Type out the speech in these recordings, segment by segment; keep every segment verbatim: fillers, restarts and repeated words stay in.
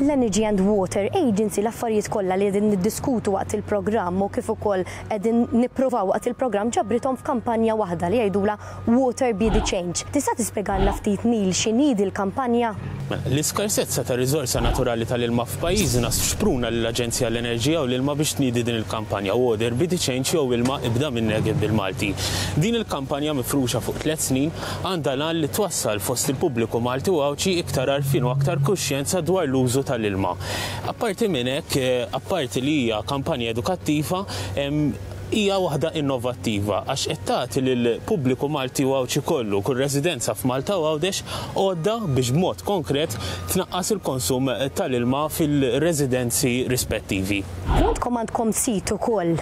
L-Energy and Water Agency, l-affarijiet kollha li qegħdin niddiskutu waqt il-programm u kif ukoll qegħdin nippruvaw waqt il-programm, ġabrithom f'kampanja waħda li jgħidula Water Be the Change. Tista' tispjegalna ftit, Neil, x'inhi l-kampanja? Mela, l-iskarsezza ta' riżorsa naturali tal-ilma f'pajjiżna xpruna l-Aġenzija l-Enerġija u l-Ilma biex tniedi din il-kampanja Water Be the Change jew "Ilma, ibda minnek" bil-Malti. Din il-kampanja, mifruxa fuq tliet snin, għandha l-għan li twassal fost il-pubbliku Malti u Għawdxi iktar għarfien u aktar kuxjenza dwar l-użu tal-ilma. Apparti minn hekk, eh, apparti li hija kampanja edukattiva, em, hija waħda innovattiva għax qed tagħti lill-pubbliku Malti u Għawdxi kollu, kull residenza f'Malta u Għawdex, għodda biex b'mod konkret tnaqqas il-konsum tal-ilma fil-residenzi rispettivi. Għandkom għandkom sit ukoll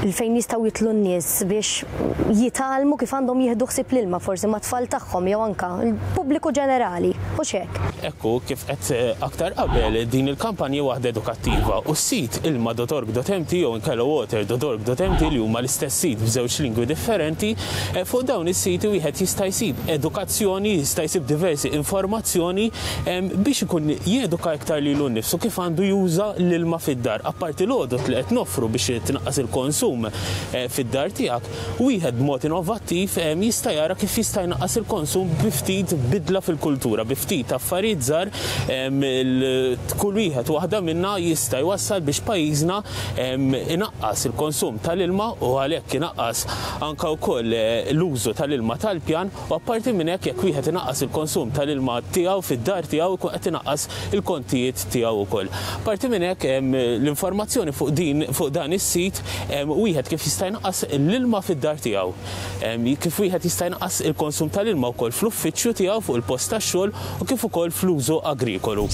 fejn jistgħu jitilgħu n-nies biex jitgħallmu kif għandhom jieħdu ħsieb l-ilma, forsi mat-tfal tagħhom jew anka l-pubbliku ġenerali, u hekk? Ekku, kif qed eh, aktar qabel, din il-kampanja waħda edukattiva u s-sit ilma punt org punt M T jew inkella water punt org punt M T, li huma l-istess sit b'żewġ lingwi differenti, eh, fuq dawn is-siti wieħed jista' jsib edukazzjoni, jista' jsib diversi informazzjoni em, biex ikun jeduka iktar lilu nnifsu kif għandu juża l-ilma fid-dar. Apparti l-għodot li qed noffru biex tnaqqas il-konsum eh, fid-dar tiegħek, wieħed b'mod innovattiv em, jista' jara kif jista' jnaqqas il-konsum bi ftit bidla fil-kultura, bi ftit affarijiet żgħar em, il- kull wieħed waħda minna jista' jwassal biex pajjiżna em, inaqqas il-konsum tal-ilma u għalhekk inaqqas anka wkoll eh, l-użu tal-ilma tal-pjan. U apparti minn hekk, jekk wieħed inaqqas il-konsum tal-ilma tiegħu fid-dar tiegħu, jkun qed inaqqas il-kontijiet tiegħu wkoll. Apparti minn hekk, em, l-informazzjoni fuq din fuq dan is-sit, em, wieħed kif jista' jnaqqas l-ilma fid-dar tiegħu. Em, Kif wieħed jista' jnaqqas il-konsum tal-ilma wkoll fl-uffiċċju tiegħu, fuq il-post tax-xogħol, u kif ukoll fl-użu agrikolu.